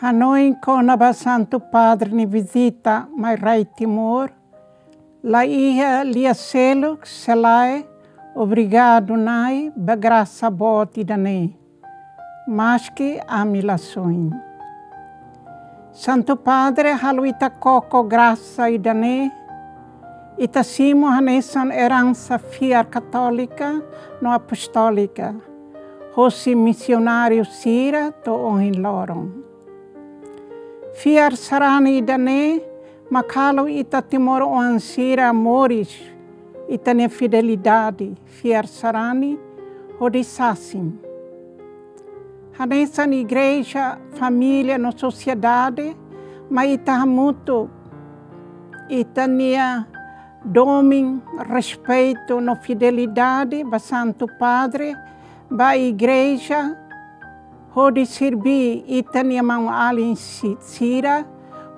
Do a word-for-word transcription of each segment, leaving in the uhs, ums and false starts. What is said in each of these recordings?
Hanoin kona-ba Santu Padre nia vizita mai rai Timor, la iha lia seluk se lae obrigadu Na'i ba grasa boot ida-ne'e, maski ami la soin. Santu Padre halo ita koko grasa ida-ne'e, ita simu hanesan eransa fiar katólika no apostólika hosi misionáriu sira to'o ohin loron. Fiar sarani ida-ne'e mak halo ita timoroan sira moris ita-nia fidelidade, fiar sarani hodi sasin. Hanesan igreja, família no sosiedade, mai ita hamutuk ita-nia domin, respeitu no fidelidade ba Santu Padre, ba igreja, hodi serbí ita-nia maun-alin si-, sira,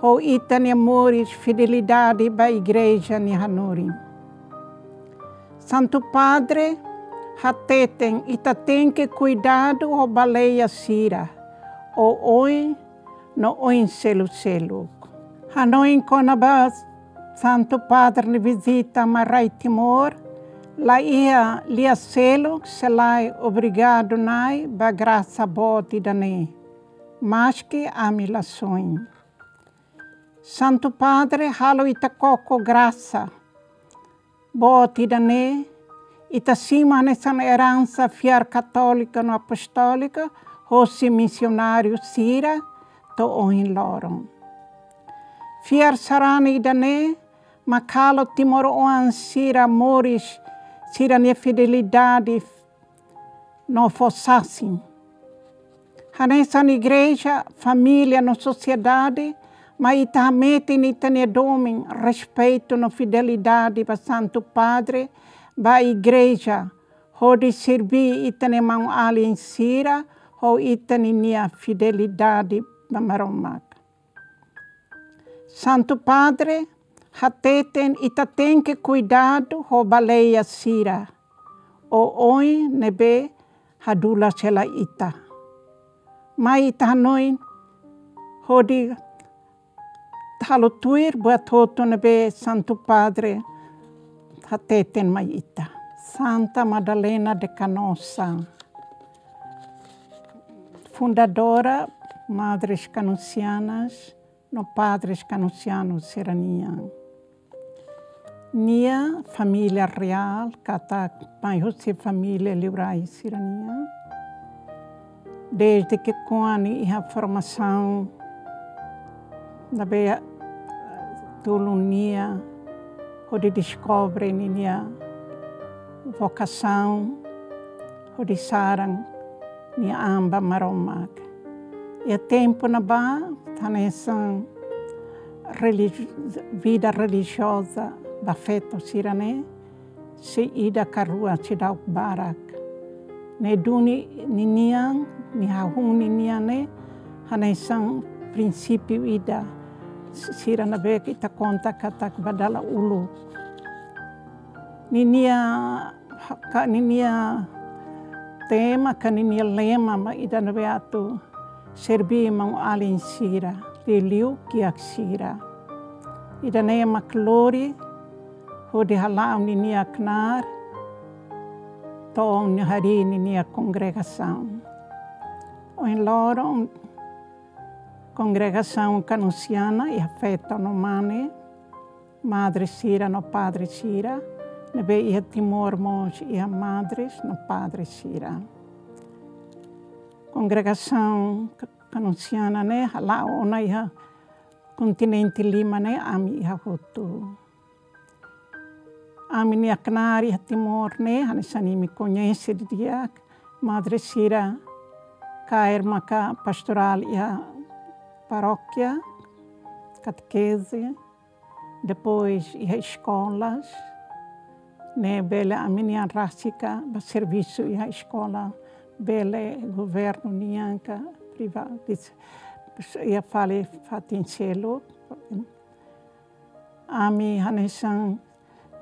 ho ita-nia moris fidelidade ba igreja nia hanorin. Santu Padre hateten ita tenke kuidadu ho baleia sira, oioin no oin seluk-seluk. Hanoin kona-ba Santu Padre nia vizita mai rai Timor, la iha lia seluk se lae obrigadu Na'i ba grasa boot ida-ne'e, maski ami la soin. Santu Padre halo ita koko grasa boot ida-ne'e, ita simu hanesan eransa fiar katólika no apostólika hosi misionáriu sira to'o ohin loron. Fiar sarani ida-ne'e mak halo timoroan sira moris sira-nia fidelidade no fó sasin. Hanesan igreja, família no sosiedade, mai ita hametin ita-nia domin, respeitu no fidelidade ba Santu Padre, ba igreja, hodi serbí ita-nia maun-alin sira, ho ita-nia fidelidade ba Maromak. Santu Padre hateten ita tenke kuidadu ho baleia sira, oioin ne'ebé hadulas hela ita. Mai ita hanoin hodi halo tuir buat hotu ne'ebé Santu Padre hateten mai ita. Santa Madalena de Canossa, fundadora Madres Canossianas no Padres Canossianos sira-nian. Nia família reál, katak mai husi família liurai sira-nian. Desde ki'ikoan nia iha formasaun, ne'ebé tulun nia hodi deskobre ninia vokasaun, hodi saran nia an ba Maromak. Iha tempu ne'ebá, hanesan religi-, vida relijioza ba feto sira-ne'e, sei ida ka rua, seidauk barak. Ne'e duni ninian, nia hahú ninian ne'e, hanesan prinsípiu ida, si-, sira ne'ebé ita konta katak ba dala uluk. Ninia, ka ninia tema, ka ninia lema mak ida ne'ebé atu serbí maun-alin sira, liuliu kiak sira. Ida-ne'e mak lori hodi hala'o ninia knaar to'o nia harii ninia kongregasaun. Ohin loron kongregasaun Kanosiana iha feto no mane, madre sira no padre sira, ne'ebé iha Timor mós iha madres no padre sira. Kongregasaun Ka-, Kanosiana ne'e hala'o ona iha kontinente lima ne'e, ami iha hotu. Ami-nia knaar iha Timor ne'e, hanesan imi koñese didi'ak, madre sira kaer maka pastorál iha parókia, katekeze, depois iha eskolas, ne'e bele ami-nian rasik ba servisu iha eskola, bele governu nian ka privadu, iha fali fatin seluk. Ami hanesan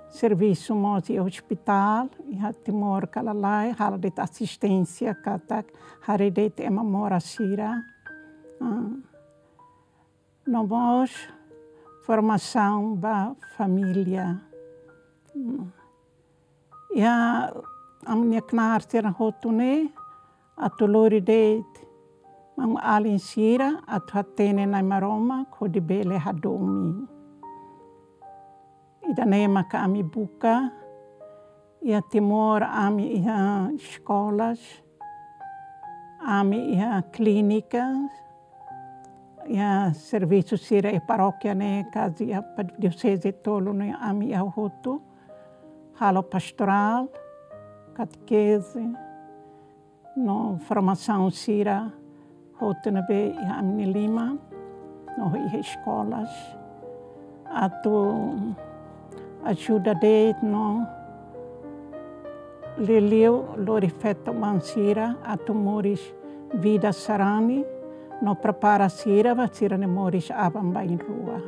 servisu mós iha ospitál, iha Timor ka lalais, halo de'it asisténsia katak haree de'it ema moras sira. Ah, no mós formasaun ba família. Iha ami-nia knaar sira hotu ne'e, atu lori de'it maun-alin sira atu hatene Na'i Maromak hodi bele hadomi. Ida-ne'e maka ami buka, iha Timor ami iha eskolas, ami iha klínika, iha servisu sira iha parókia ne'e, kazi iha pa-, dioseze tolu ne'e ami iha hotu, halo pastorál, katekeze, no formasaun sira hotu ne'ebé iha ami-nia liman, no iha eskolas. Atu ajuda de'it no liuliu lori feto-oan sira atu moris vida sarani, no prepara sira ba sira-nia moris aban-bainrua.